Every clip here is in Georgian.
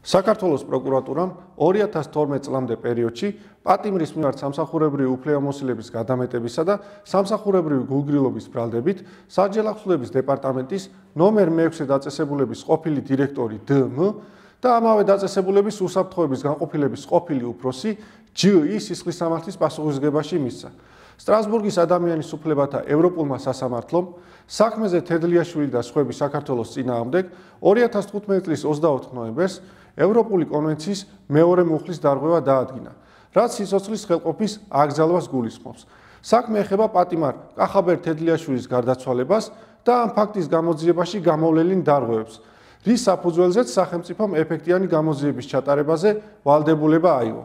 საქართველოს პროკურატურამ 2012 წლამდე პერიოდში პატიმრის მიმართ სამსახურებრივი უფლებამოსილების გადამეტებისა და სამსახურებრივი გულგრილობის ბრალდებით საჯელახსოვრების დეპარტამენტის ნომერ 6 დაწესებულების ყოფილი დირექტორი დმ და ამავე დაწესებულების უსაფრთხოების განყოფილების ყოფილი უფროსი ჯ.ი სისხლისამართლის პასუხისმგებაში მისცა. სტრასბურგის ადამიანის უფლებათა ევროპულმა სასამართლომ საქმეზე თედლიაშვილი და სხვები საქართველოს წინააღმდეგ 2015 წლის 24 ნოემბერს ევროპული კონვენციის მეორე მუხლის დარღვევა დაადგინა, რაც სიცოცხლის ხელყოფის აკრძალვას გულისხმობს. საქმე ეხება პატიმარ კახაბერ თედლიაშვილის გარდაცვალებას და ამ ფაქტის გამოძიებაში გამოვლენილ დარღვევებს, რის საფუძველზეც სახელმწიფომ ეფექტიანი გამოძიების ჩატარებაზე ვალდებულება აიღო.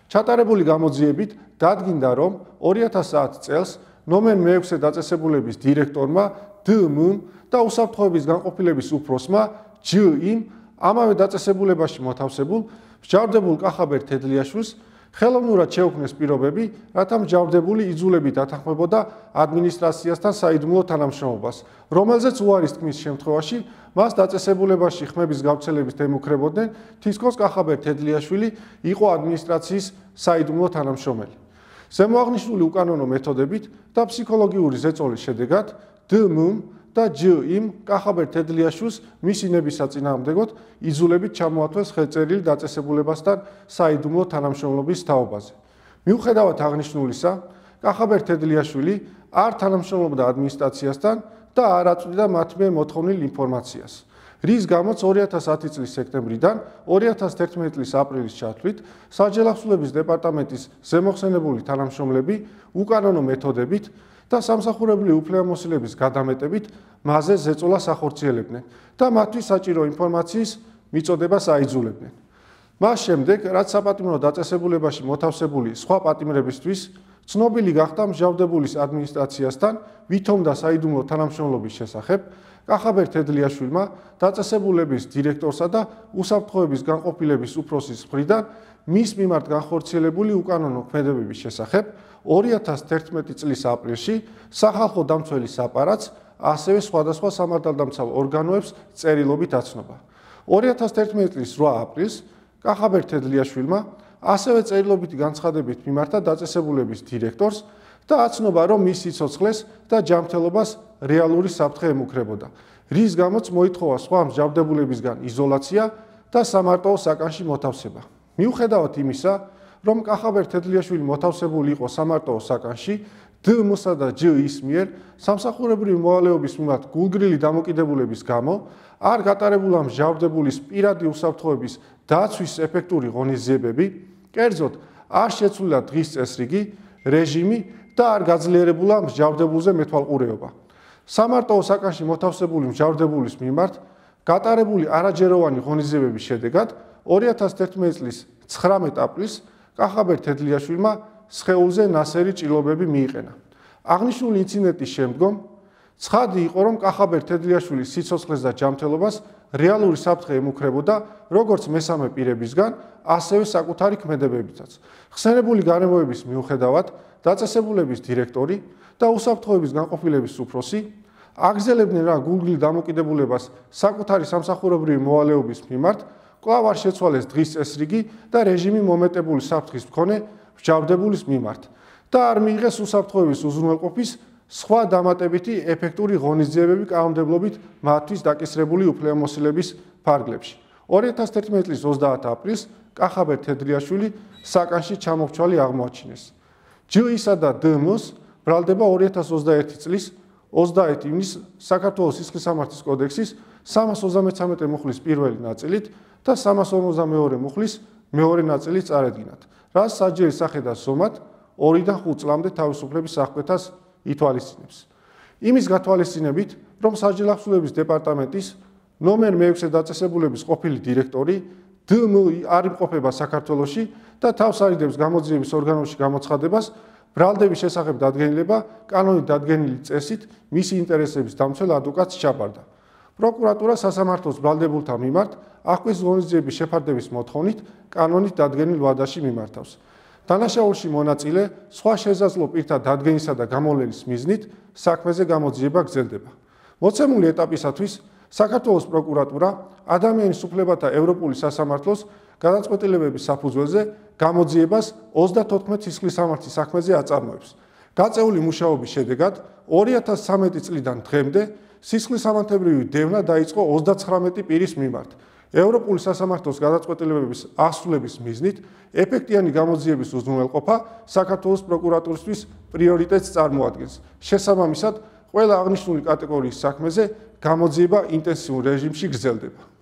ჩატარებული გამოძიებით დადგინდა, რომ 2010 წელს ნომერ 6 დაწესებულების დირექტორმა დმ და უსაფრთხოების განყოფილების უფროსმა ჯ.იმ ამავე დაწესებულებაში მოთავსებულ მსჯავრდებულ კახაბერ თედლიაშვილს ხელოვნურად შეუქმნეს პირობები, რათა მსჯავრდებული იძულებით ათანხმებოდა ადმინისტრაციასთან საიდუმლო თანამშრომლობას, რომელზეც უარის თქმის შემთხვევაში მას დაწესებულებაში ხმების გავრცელებით ემუქრებოდნენ, თითქოს კახაბერ თედლიაშვილი იყო ადმინისტრაციის საიდუმლო თანამშრომელი. ზემოაღნიშნული უკანონო მეთოდებით და ფსიქოლოგიური ზეწოლის შედეგად დმ და ჯ.იმ კახაბერ თედლიაშვილს მისი ნების საწინააღმდეგოდ იძულებით ჩამოართვეს ხელწერილი დაწესებულებასთან საიდუმლო თანამშრომლობის თაობაზე. მიუხედავად აღნიშნულისა, კახაბერ თედლიაშვილი არ თანამშრომლობდა ადმინისტრაციასთან და არ აწვდიდა მათ მიერ მოთხოვნილ ინფორმაციას, რის გამოც 2010 წლის სექტემბრიდან 2011 წლის აპრილის ჩათვლით საჯელახსოვრების დეპარტამენტის ზემოხსენებული თანამშრომლები უკანონო მეთოდებით და სამსახურებრივი უფლებამოსილების გადამეტებით მასზე ზეწოლას ახორციელებდნენ და მათთვის საჭირო ინფორმაციის მიწოდებას აიძულებდნენ. მას შემდეგ, რაც საპატიმრო დაწესებულებაში მოთავსებული სხვა პატიმრებისთვის ცნობილი გახდა მსჯავრდებულის ადმინისტრაციასთან ვითომ და საიდუმლო თანამშრომლობის შესახებ, კახაბერ თედლიაშვილმა დაწესებულების დირექტორსა და უსაფრთხოების განყოფილების უფროსის მხრიდან მის მიმართ განხორციელებული უკანონო ქმედებების შესახებ 2011 წლის აპრილში სახალხო დამცველის აპარატს ასევე სხვადასხვა სამართალდამცავ ორგანოებს წერილობით აცნობა. 2011 წლის 8 აპრილს კახაბერ თედლიაშვილმა ასევე წერილობითი განცხადებით მიმართა დაწესებულების დირექტორს და აცნობა, რომ მის სიცოცხლეს და ჯანმრთელობას რეალური საფრთხე ემუქრებოდა, რის გამოც მოითხოვა სხვა მსჯავრდებულებისგან იზოლაცია და სამარტოო საკანში მოთავსება. მიუხედავად იმისა, რომ კახაბერ თედლიაშვილი მოთავსებული იყო სამარტოო საკანში, დმ-სა და ჯ.ის მიერ სამსახურებრივი მოვალეობის მიმართ გულგრილი დამოკიდებულების გამო არ გატარებულა მსჯავრდებულის პირადი უსაფრთხოების დაცვის ეფექტური ღონისძიებები, კერძოდ არ შეცვლილა დღის წესრიგი, რეჟიმი და არ გაძლიერებულა მსჯავრდებულზე მეთვალყურეობა. სამარტოო საკანში მოთავსებული მსჯავრდებულის მიმართ გატარებული არაჯეროვანი ღონისძიებების შედეგად 2011 წლის 19 აპრილს კახაბერ თედლიაშვილმა სხეულზე ნასერი ჭრილობები მიიყენა. აღნიშნული ინციდენტის შემდგომ ცხადი იყო, რომ კახაბერ თედლიაშვილის სიცოცხლეს და ჯანმრთელობას რეალური საფრთხე ემუქრებოდა როგორც მესამე პირებისგან, ასევე საკუთარი ქმედებებითაც. ხსენებული გარემოების მიუხედავად, დაწესებულების დირექტორი და უსაფრთხოების განყოფილების უფროსი აგრძელებდნენ რა გულგრილ დამოკიდებულებას საკუთარი სამსახურებრივი მოვალეობის მიმართ, კვლავ არ შეცვალეს დღის წესრიგი და რეჟიმი მომეტებული საფრთხის მქონე მსჯავრდებულის მიმართ და არ მიიღეს უსაფრთხოების უზრუნველყოფის სხვა დამატებითი ეფექტური ღონისძიებები კანონმდებლობით მათთვის დაკისრებული უფლებამოსილების ფარგლებში. 2011 წლის 30 აპრილს კახაბერ თედლიაშვილი საკანში ჩამოქცვალი აღმოაჩინეს. ჯ.ისა და დმ-ს ბრალდება 2021 წლის 30 ივნისს საქართველოს სისხლისამართლის კოდექსის 333 მუხლის პირველი ნაწილით და 352 მუხლის მეორე ნაწილით წარედგინათ, რაც საჯერის სახედას ზომად 2-დან 5 წლამდე თავისუფლების აღკვეთას ითვალისწინებს. იმის გათვალისწინებით, რომ საჯელახსოვრების დეპარტამენტის ნომერ 6 დაწესებულების ყოფილი დირექტორი დმ არ იმყოფება საქართველოში და თავს არიდებს გამოძიების ორგანოში გამოცხადებას, ბრალდების შესახებ დადგენილება კანონით დადგენილი წესით მისი ინტერესების დამცველ ადვოკატს ჩაბარდა. პროკურატურა სასამართლოს ბრალდებულთა მიმართ აღკვეთის ღონისძიების შეფარდების მოთხოვნით კანონით დადგენილ ვადაში მიმართავს. დანაშაულში მონაწილე სხვა შესაძლო პირთა დადგენისა და გამოვლენის მიზნით საქმეზე გამოძიება გრძელდება. მოცემული ეტაპისათვის საქართველოს პროკურატურა ადამიანის უფლებათა ევროპული სასამართლოს გადაწყვეტილებების საფუძველზე გამოძიებას 34 სისხლისამართლის საქმეზე აწარმოებს. გაწეული მუშაობის შედეგად 2013 წლიდან დღემდე სისხლისამართლებრივი დევნა დაიწყო 39 პირის მიმართ. ევროპული სასამართლოს გადაწყვეტილებების ასრულების მიზნით ეფექტიანი გამოძიების უზრუნველყოფა საქართველოს პროკურატურისთვის პრიორიტეტს წარმოადგენს. შესაბამისად, ყველა აღნიშნული კატეგორიის საქმეზე გამოძიება ინტენსიურ რეჟიმში გრძელდება.